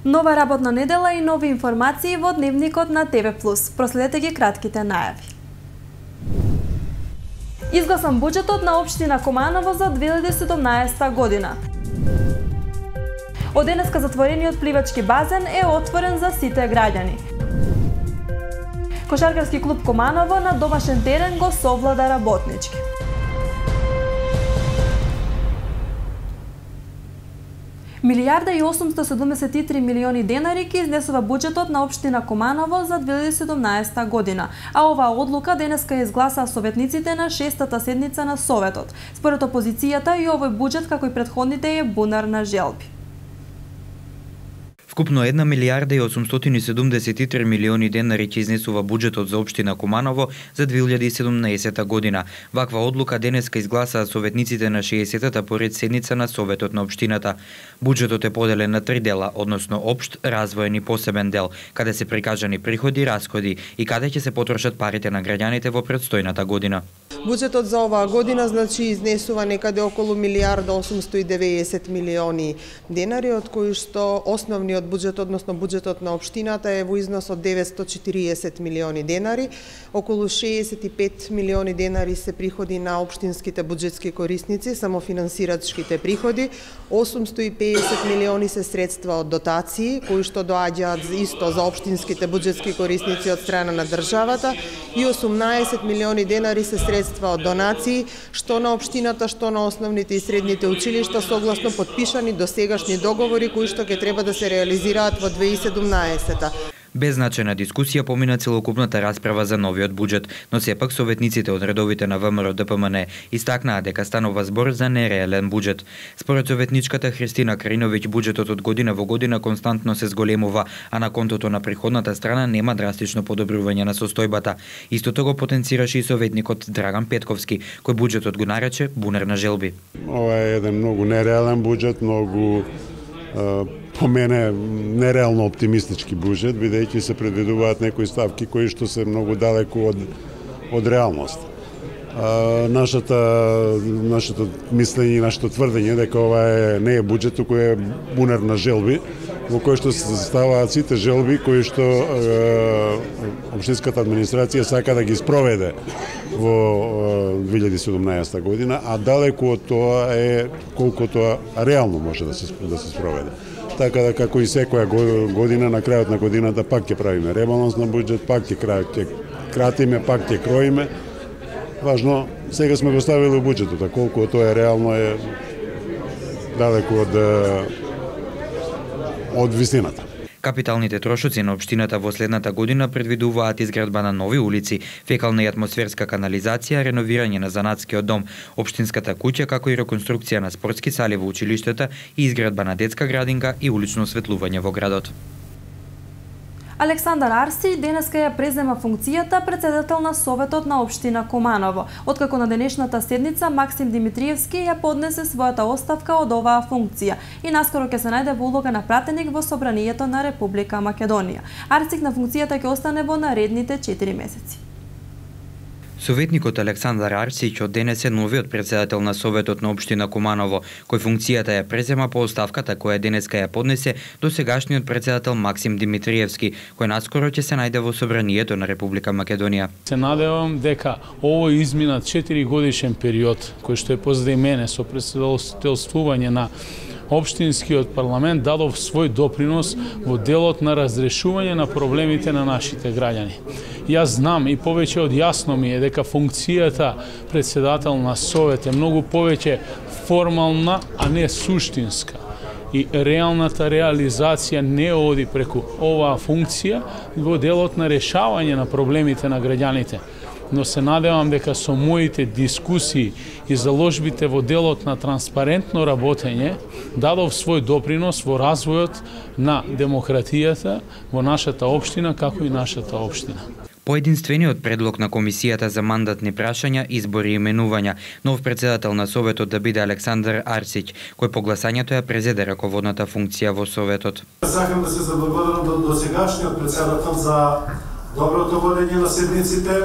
Нова работна недела и нови информации во дневникот на ТВ+. Проследете ги кратките најави. Изгласан буџетот на општина Куманово за 2017 година. Од денеска затворениот пливачки базен е отворен за сите граѓани. Кошаркарски клуб Куманово на домашен терен го совлада работнички. Милијарда и 873 милиони денари ки изнесува буџетот на општина Куманово за 2017 година, а оваа одлука денеска изгласаа советниците на 6-та седница на Советот. Според опозицијата и овој буџет, како и претходните, е бунар на желби. Вкупно 1 милијарда и 873 милиони денари ќе изнесува буџетот за општина Куманово за 2017 година. Ваква одлука денеска изгласаа советниците на 60-та поред седница на Советот на општината. Буџетот е поделен на 3 дела, односно општ, развоен и посебен дел, каде се прикажани приходи и расходи и каде ќе се потрошат парите на граѓаните во предстојната година. Буџетот за оваа година изнесува некаде околу милијарда 890 милиони денари, од кои што основниот буџет, односно буџетот на општината е во износ од 940 милиони денари. Околу 65 милиони денари се приходи на општинските буџетски корисници, самофинансирачките приходи. 850 милиони се средства од дотации, кои што доаѓаат исто за општинските буџетски корисници од страна на државата, и 18 милиони денари се средства од донации, што на општината, што на основните и средните училишта, согласно подпишани досегашни договори кои што ќе треба да се реализираат во 2017. Без значајна дискусија помина целокупната расправа за новиот буџет, но сепак советниците од редовите на ВМРО ДПМН истакнаа дека станува збор за нереален буџет. Според советничката Христина Кариновиќ, буџетот од година во година константно се зголемува, а на контото на приходната страна нема драстично подобрување на состојбата. Истото го потенцираше и советникот Драган Петковски, кој буџетот го нарече бунар на желби. Ова е еден многу нереален буџет, многу по мене нереално оптимистички буџет, бидејќи се предвидуваат некои ставки кои што се многу далеку од реалност. Нашето мислење и нашето тврдење дека ова не е буџет, туку е бунар на желби, во кој што се ставаат сите желби кои што општинската администрација сака да ги спроведе во 2017 година, а далеку од тоа е колку тоа реално може да се спроведе. Така да, како и секоја година, на крајот на годината пак ќе правиме ребаланс на буџет, пак ќе кратиме, пак ќе кроиме. Важно, сега сме го ставили во буџетот, а колку тоа е реално е далеку од висината. Капиталните трошоци на општината во следната година предвидуваат изградба на нови улици, фекална и атмосферска канализација, реновирање на занатскиот дом, општинската куќа, како и реконструкција на спортски сали во училиштата и изградба на детска градинка и улично осветлување во градот. Александар Арсиќ денеска ја презема функцијата председател на Советот на општина Куманово, откако на денешната седница Максим Димитриевски ја поднесе својата оставка од оваа функција и наскоро ќе се најде во улога на пратеник во Собранието на Република Македонија. Арсиќ на функцијата ќе остане во наредните 4 месеци. Советникот Александар Арсиќ од денес е новиот председател на Советот на општина Куманово, кој функцијата ја презема по оставката која денеска ја поднесе досегашниот председател Максим Димитриевски, кој наскоро ќе се најде во Собранието на Република Македонија. Се надевам дека овој изминат 4 годишен период, кој што е позади мене со председателствување на Општинскиот парламент дадов свој допринос во делот на разрешување на проблемите на нашите граѓани. Јас знам и повеќе од јасно ми е дека функцијата председател на Совет е многу повеќе формална, а не суштинска. И реалната реализација не оди преку оваа функција во делот на решавање на проблемите на граѓаните. Но се надевам дека со моите дискусии и заложбите во делот на транспарентно работење дадов свој допринос во развојот на демократијата во нашата општина, како и нашата општина. По единствениот предлог на Комисијата за мандатни прашања, избори и именувања, нов председател на Советот да биде Александар Арсиќ, кој по гласањето ја презеде раководната функција во Советот. Сакам да се заблагодарам до сегашниот председател за доброто водење на седниците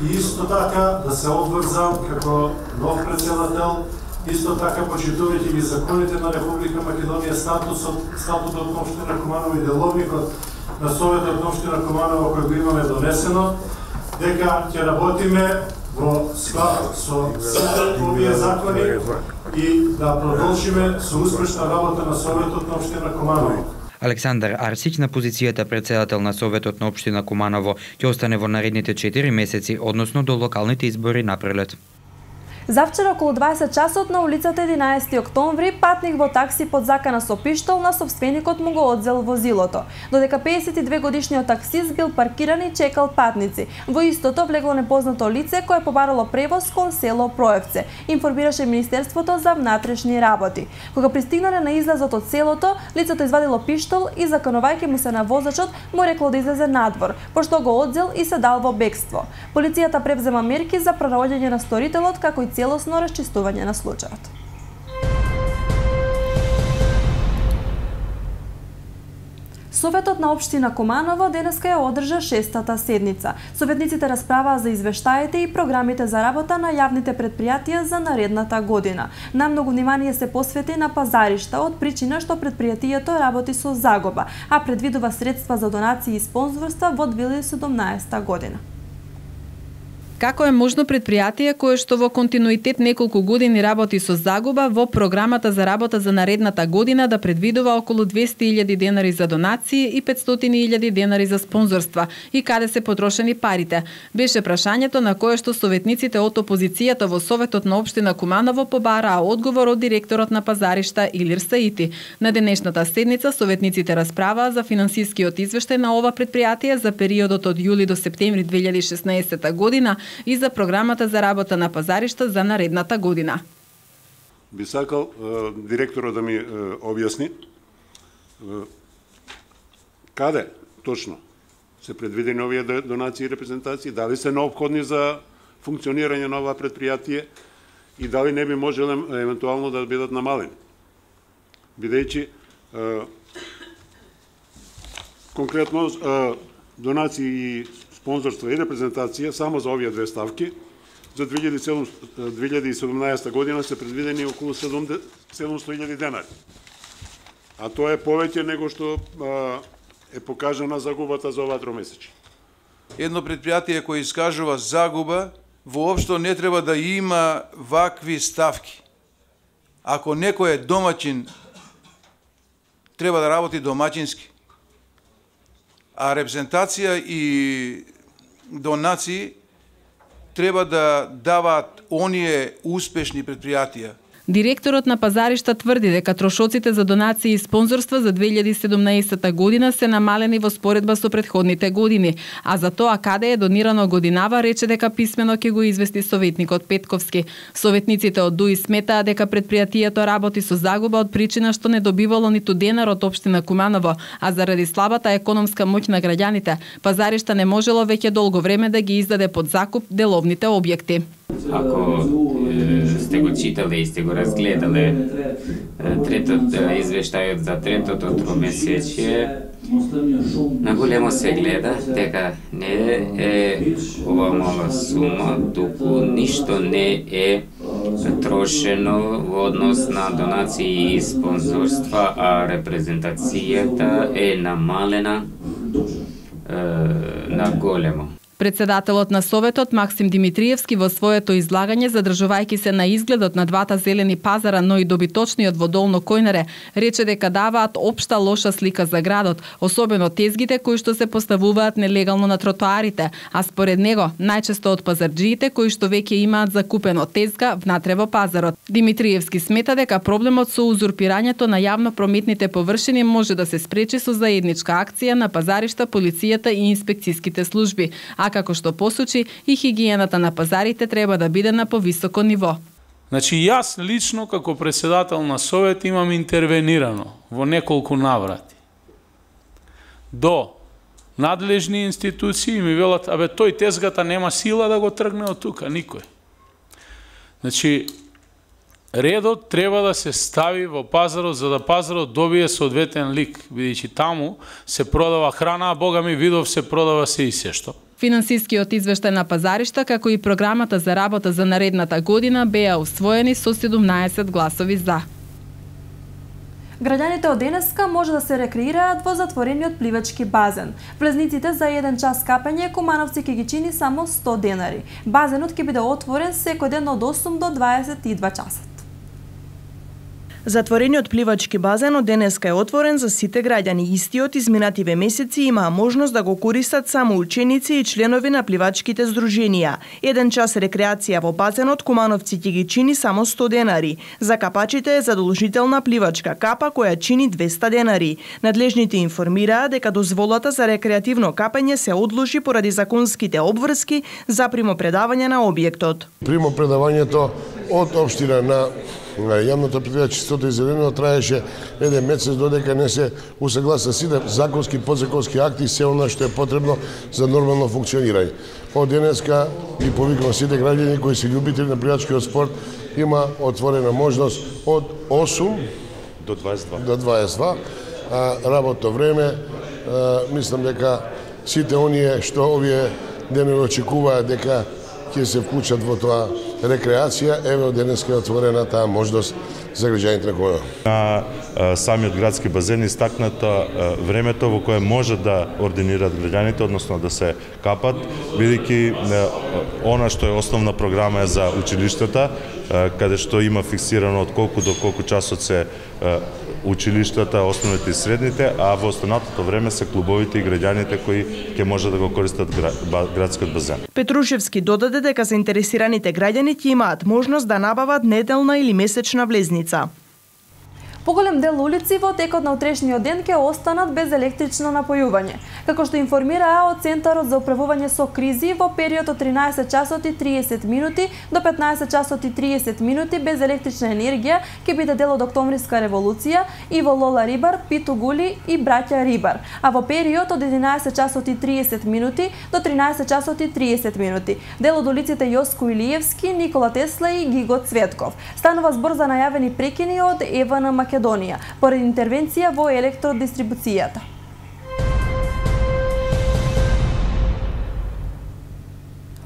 и исто така да се обврзам како нов председател исто така почитувајќи ги законите на Република Македонија, статутот на општина Куманово и деловникот на Советот на општина Куманово кој го имаме донесено, дека ќе работиме во склад со сите овие закони и да продолжиме со успешна работа на Советот на општина Куманово. Александар Арсиќ на позицијата председател на Советот на општина Куманово ќе остане во наредните 4 месеци, односно до локалните избори на пролет. Завчера околу 20 часот на улицата 11 октомври патник во такси под закана со пиштол на собственикот му го одзел возилото. Додека 52 годишниот таксист бил паркиран и чекал патници. Во истото влегло непознато лице кое побарало превоз кон село Проевце, информираше Министерството за внатрешни работи. Кога пристигнале на излазот од селото, лицето извадило пиштол и заканувајќи му се на возачот, му рекло да излезе надвор, пошто го одзел и се дал во бегство. Полицијата превзема мерки за пронаоѓање на сторителот како и целосно расчистување на случајот. Советот на општина Куманово денеска ја одржа 6-та седница. Советниците расправаа за извештаите и програмите за работа на јавните предпријатија за наредната година. Најмногу внимание се посвети на пазаришта од причина што предпријатието работи со загуба, а предвидува средства за донации и спонзорства во 2017 година. Како е можно предпријатие кое што во континуитет неколку години работи со загуба во програмата за работа за наредната година да предвидува околу 200.000 денари за донации и 500.000 денари за спонзорства и каде се потрошени парите? Беше прашањето на кое што советниците од опозицијата во Советот на општина Куманово побараа одговор од директорот на пазаришта Илир Саити. На денешната седница советниците расправаа за финансискиот извештај на ова предпријатие за периодот од јули до септември 2016 година и за програмата за работа на пазаришта за наредната година. Би сакал директорот да ми објасни каде точно се предвидени овие донации и репрезентации, дали се неопходни за функционирање на ова предпријатие и дали не би можеле евентуално да бидат намалени. Бидејќи конкретно донации и спонзорство и репрезентација само за овие две ставки за 2017 година се предвидени околу 700.000 денари. А тоа е повеќе него што е покажана загубата за ова тромесечие. Едно предпријатие кој искажува загуба воопшто не треба да има вакви ставки. Ако некој е домаќин, треба да работи домаќински. А репрезентација и донации треба да даваат оние успешни предпријатија. Директорот на пазаришта тврди дека трошоците за донации и спонзорства за 2017 година се намалени во споредба со претходните години, а за тоа каде е донирано годинава рече дека писмено ќе го извести советникот Петковски. Советниците од ДУИ сметаа дека предпријатието работи со загуба од причина што не добивало ниту денар од општина Куманово, а заради слабата економска моќ на граѓаните, пазаришта не можело веќе долго време да ги издаде под закуп деловните објекти. Ако сте го читале и сте го разгледале извештајот за третото тромесечие, на големо се гледа дека не е ова мала сума, туку ништо не е трошено во однос на донации и спонзорства, а репрезентацијата е намалена на големо. Председателот на Советот Максим Димитриевски во своето излагање, задржувајќи се на изгледот на двата зелени пазара, но и добиточниот во Долно Којнаре, рече дека даваат општа лоша слика за градот, особено тезгите кои што се поставуваат нелегално на тротоарите, а според него најчесто од пазарџиите кои што веќе имаат закупено тезга внатре во пазарот. Димитриевски смета дека проблемот со узурпирањето на јавно прометните површини може да се спречи со заедничка акција на пазаришта, полицијата и инспекцијските служби, а како што посочи, и хигиената на пазарите треба да биде на повисоко ниво. Значи, јас лично, како председател на Совет, имам интервенирано во неколку наврати. До надлежни институции ми велат, абе, тој тезгата нема сила да го тргне од тука, никој. Значи, редот треба да се стави во пазарот, за да пазарот добие соодветен лик, бидејќи таму се продава храна, а Бога ми видов се продава се и се што. Финансискиот извештај на пазаришта, како и програмата за работа за наредната година беа усвоени со 17 гласови за. Граѓаните од денеска може да се рекреираат во затворениот пливачки базен. Влезниците за 1 час капање Кумановци ќе ги чини само 100 денари. Базенот ќе биде отворен секој ден од 8 до 22 часот. Затворениот пливачки базен од денеска е отворен за сите граѓани. Истиот изминативе месеци имаа можност да го користат само ученици и членови на пливачките здруженија. 1 час рекреација во базенот Кумановци ќе ги чини само 100 денари. За капачите е задолжителна пливачка капа која чини 200 денари. Надлежните информираа дека дозволата за рекреативно капање се одложи поради законските обврски за примопредавање на објектот. Примопредавањето од општина на јавното предпријатие Чистото и зелено траеше 1 месец додека не се усагласа сите законски и подзаконски акти и се она што е потребно за нормално функционирање. Од денеска и повикувам сите граѓани кои се љубители на пливачкиот спорт, има отворена можност од 8 до 22. До 22. Работно време, мислам дека сите оние што овие денови очекуваат дека ќе се вклучат во тоа рекреација, еве од денеска е отворена таа можност за граѓаните на Куманово. На самиот градски базен истакната времето во кое може да ординираат граѓаните, односно да се капат, бидејќи она што е основна програма е за училиштата, каде што има фиксирано од колку до колку часот се училиштата, основните и средните, а во останатото време се клубовите и граѓаните кои ќе може да го користат градскиот базен. Петрушевски додаде дека заинтересираните граѓани ќе имаат можност да набават неделна или месечна влезница. Поголем дел улици во текот на утрешниот ден ќе останат без електрично напојување. Како што информираа од Центарот за управување со кризи, во период од 13 часот и 30 минути до 15 часот и 30 минути без електрична енергија ќе биде дел од Октомвриска револуција и во Лола Рибар, Питу Гули и Браќа Рибар, а во период од 11 часот и 30 минути до 13 часот и 30 минути дел од улиците Јоско Илиевски, Никола Тесла и Гиго Цветков. Станува збор за најавени прекини од ЕВН Македонија поради интервенција во електродистрибуцијата.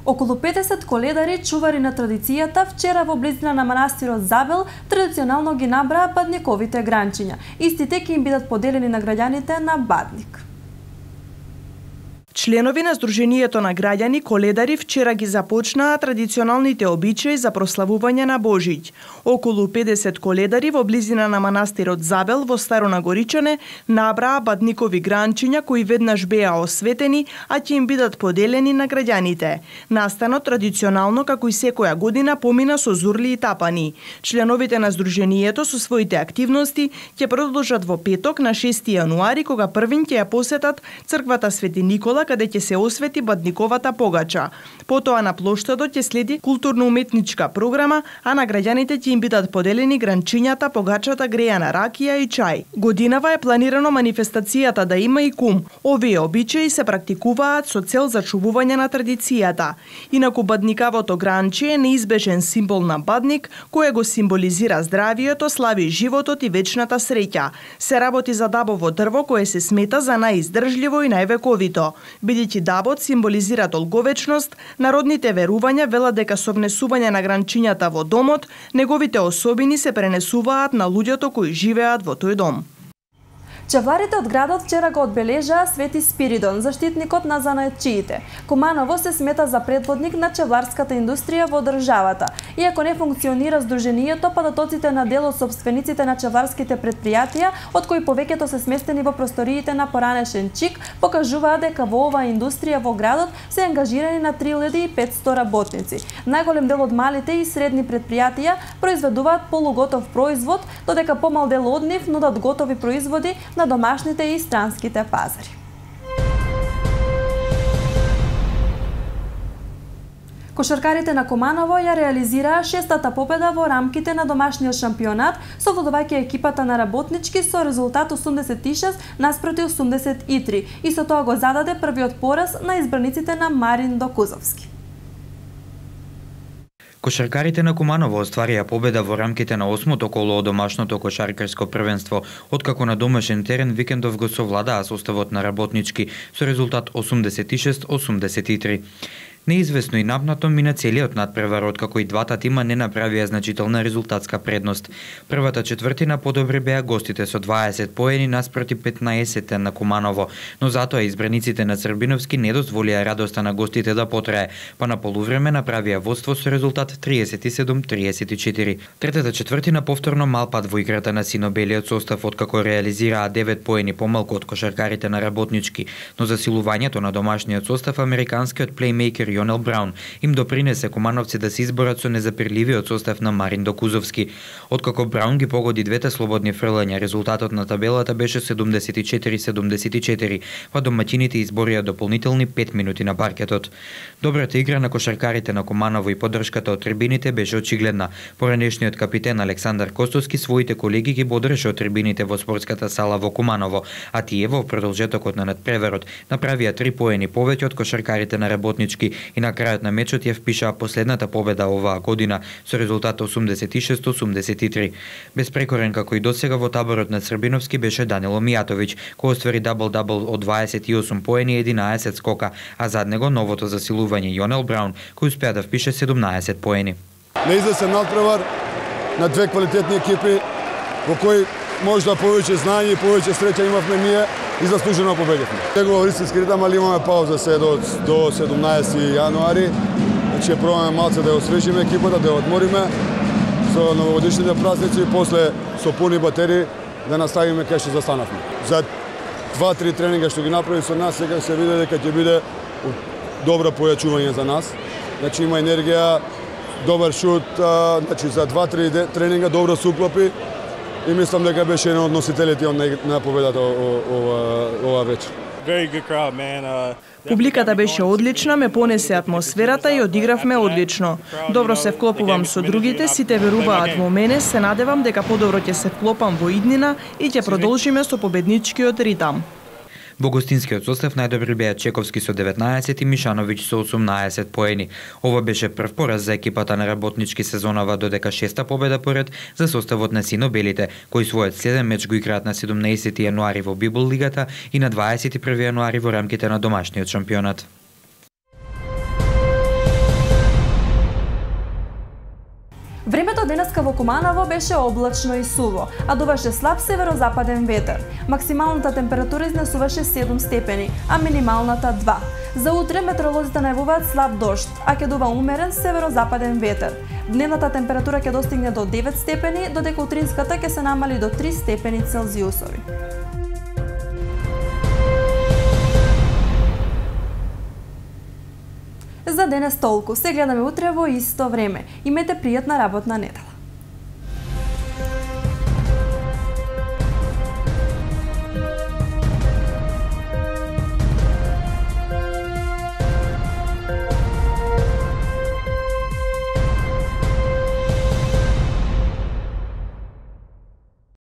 Околу 50 коледари, чувари на традицијата, вчера во близина на манастирот Забел традиционално ги набраа бадниковите гранчиња. Истите ќе им бидат поделени на граѓаните на Бадник. Членови на Сдруженијето на граѓани коледари вчера ги започнаа традиционалните обичаи за прославување на Божиќ. Околу 50 коледари во близина на манастирот Забел во Старо Нагоричане набраа бадникови гранчиња кои веднаш беа осветени, а ќе им бидат поделени на граѓаните. Настанот традиционално како и секоја година помина со зурли и тапани. Членовите на Сдруженијето со своите активности ќе продолжат во петок на 6 јануари кога првин ќе ја посетат црквата Свети Никола каде ќе се освети бадниковата погача. Потоа на плоштадот ќе следи културно-уметничка програма, а на граѓаните ќе им бидат поделени гранчињата, погачата грејана ракија и чај. Годинава е планирано манифестацијата да има и кум. Овие обичаи се практикуваат со цел зачувување на традицијата. Инаку бадникавото гранче е неизбежен символ на Бадник, кој го символизира здравието, слави животот и вечната среќа. Се работи за дабово дрво кое се смета за најиздржливо и највековито. Бидејќи дабот символизира долговечност, народните верувања велат дека со внесување на гранчињата во домот, неговите особини се пренесуваат на луѓето кои живеат во тој дом. Чевларите од градот вчера го одбележаа Свети Спиридон, заштитникот на занаетчиите. Куманово се смета за предводник на чевларската индустрија во државата. Иако не функционира Сдруженијето, податоците на дел од сопствениците на чевларските предпријатија, од кои повеќето се сместени во просториите на поранешен ЧИК, покажуваат дека во оваа индустрија во градот се ангажирани на 3500 работници. Најголем дел од малите и средни предпријатија произведуваат полуготов производ, додека помал дел од нив нудат готови производи на домашните и странските пазари. Кошаркарите на Куманово ја реализираа 6-та победа во рамките на домашниот шампионат, совладувајќи екипата на работнички со резултат 86 наспроти 83 и со тоа го зададе првиот пораз на избраниците на Марин Докузовски. Кошаркарите на Куманово остварија победа во рамките на 8-то коло од домашното кошаркарско првенство, откако на домашен терен викендов го совладаа составот на Работнички со резултат 86-83. Неизвестно и напнато мина целиот надпревар, откако и двата тима не направија значителна резултатска предност. Првата четвртина подобри беа гостите со 20 поени наспроти 15 на Куманово, но затоа избраниците на Црбиновски не дозволија радоста на гостите да потрае, па на полувреме направија водство со резултат 37-34. Третата четвртина повторно мал пат во играта на синобелиот состав, откако реализираа 9 поени помалку од кошаркарите на Работнички, но засилувањето на домашниот состав американскиот плеймејкер Јонел Браун им допринесе кумановци да се изборат со незапирливиот состав на Марин Докузовски. Откако Браун ги погоди двете слободни фрлања, резултатот на табелата беше 74-74, па домаќините изборија дополнителни 5 минути на паркетот. Добрата игра на кошаркарите на Куманово и поддршката од трибините беше очигледна. Поранешниот капитен Александар Костовски своите колеги ги бодреше од трибините во спортската сала во Куманово, а тие во продолжетокот на надпреверот направија 3 поени повеќе од кошаркарите на Работнички и на крајот на мечот ја впишаа последната победа оваа година со резултат 86-83. Безпрекорен како и досега во таборот на Црбиновски беше Данило Мијатовиќ, кој оствари дабл-дабл од 28 поени и 11 скока, а зад него новото засилување Јонел Браун, кој успеа да впише 17 поени. Неизвестен надпревар на две квалитетни екипи во кои можда повеќе знаење и повеќе среќа имавме ние и заслужено победивме. Него во истински ритам, али имаме пауза се до 17 јануари. Значи ќе пробаме малце да ја освежиме екипата, да ја одмориме со новогодишните празници и после со пуни батерии да наставиме кај што застанавме. За 2-3 тренинга што ги направи со нас, сега се види дека ќе биде добро појачување за нас. Значи има енергија, добар шут, значи за 2-3 тренинга добро се уклопи и мислам дека беше еден од носителите на победата ова вечер. Публиката беше одлична, ме понесе атмосферата и одигравме одлично. Добро се вклопувам со другите, сите веруваат во мене, се надевам дека подобро ќе се вклопам во иднина и ќе продолжиме со победничкиот ритам. Во гостинскиот состав најдобри беа Чековски со 19 и Мишановиќ со 18 поени. Ова беше прв пораз за екипата на Работнички сезонава, додека шеста победа поред за составот на синобелите, кои својот следен меч го играат на 17 јануари во Библ лигата и на 21 јануари во рамките на домашниот шампионат. Времето денеска во Куманово беше облачно и суво, а дуваше слаб северозападен ветер. Максималната температура изнесуваше 7 степени, а минималната 2. За утре метеоролозите најавуваат слаб дожд, а ќе дува умерен северозападен ветер. Дневната температура ќе достигне до 9 степени, додека утринската ќе се намали до 3 степени Целзиусови. За денес толку. Се гледаме утре во исто време. Имете пријатна работна недела.